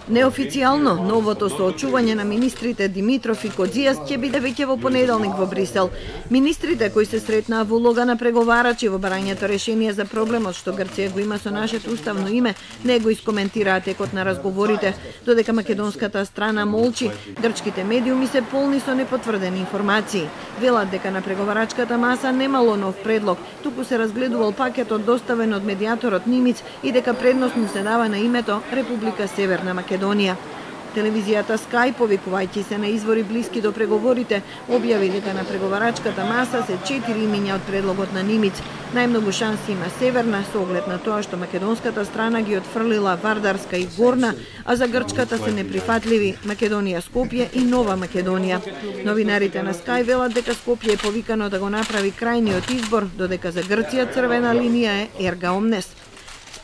Неофицијално, новото соочување на министрите Димитров и Кодзијас ќе биде веќе во понеделник во Брисел. Министрите кои се сретнаа во улога на преговарачи во барањето решение за проблемот што Грција го има со нашето уставно име, не го искоментираа текот на разговорите, додека македонската страна молчи. Грчките медиуми се полни со непотврдени информации. Велат дека на преговарачката маса немало нов предлог, туку се разгледувал пакетот доставен од медиаторот Нимиц и дека предност му се дава на името Република Северна Македонија. Телевизијата Sky, повикувајќи се на извори блиски до преговорите, објави дека на преговарачката маса се 4 имиња од предлогот на Нимиц. Најмногу шанси има Северна со оглед на тоа што македонската страна ги отфрлила Вардарска и Горна, а за грчката се неприфатливи Македонија Скопје и Нова Македонија. Новинарите на Sky велат дека Скопје е повикано да го направи крајниот избор, додека за Грција црвена линија е Ерга Омнес.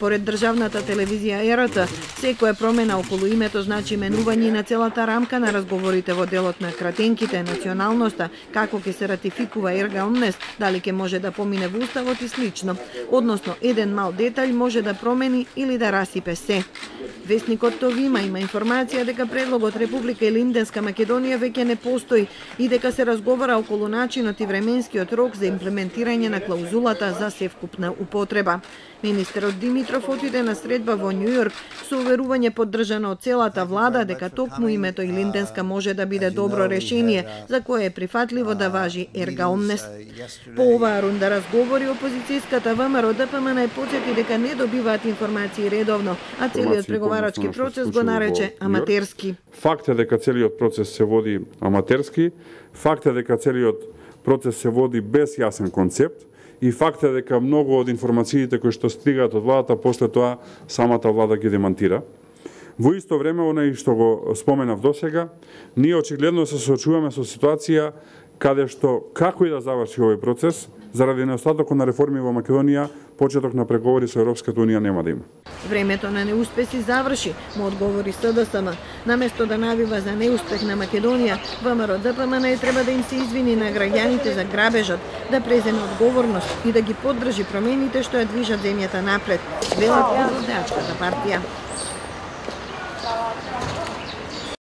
Според државната телевизија ЕРТ, секоја промена околу името значи менување на целата рамка на разговорите во делот на кратенките, националноста, како ќе се ратификува Ерга Омнес, дали ќе може да помине во уставот и слично. Односно, еден мал детаљ може да промени или да расипе се. Весникот Товима има информација дека предлогот Република Илинденска Македонија веќе не постои и дека се разговара околу начинот и временскиот рок за имплементирање на клаузулата за севкупна употреба. Министерот Димитров отиде на средба во Њу Јорк со уверување поддржано од целата влада дека токму името Илинденска може да биде добро решение за кое е прифатливо да важи Ерга Омнес. По оваа рунда разговори опозицијската ВМРО ДПМН е потсети дека не добиваат информации редовно, а целиот преговарачки процес го нарече аматерски. Факт е дека целиот процес се води аматерски, факт е дека целиот процес се води без јасен концепт, и факт е дека многу од информациите кои што стигаат од владата, после тоа самата влада ги демантира. Во исто време, онај што го споменав досега, ние очигледно се соочуваме со ситуација каде што, како и да заврши овој процес, заради неостатокот на реформи во Македонија, почеток на преговори со Европската унија нема да има. Времето на неуспеси заврши, му одговори СДСМ. Наместо да навива за неуспех на Македонија, ВМРО ДПМН треба да им се извини на граѓаните за грабежот, да преземе одговорност и да ги поддржи промените што ја движат земјата напред, велат од Родеачката партија.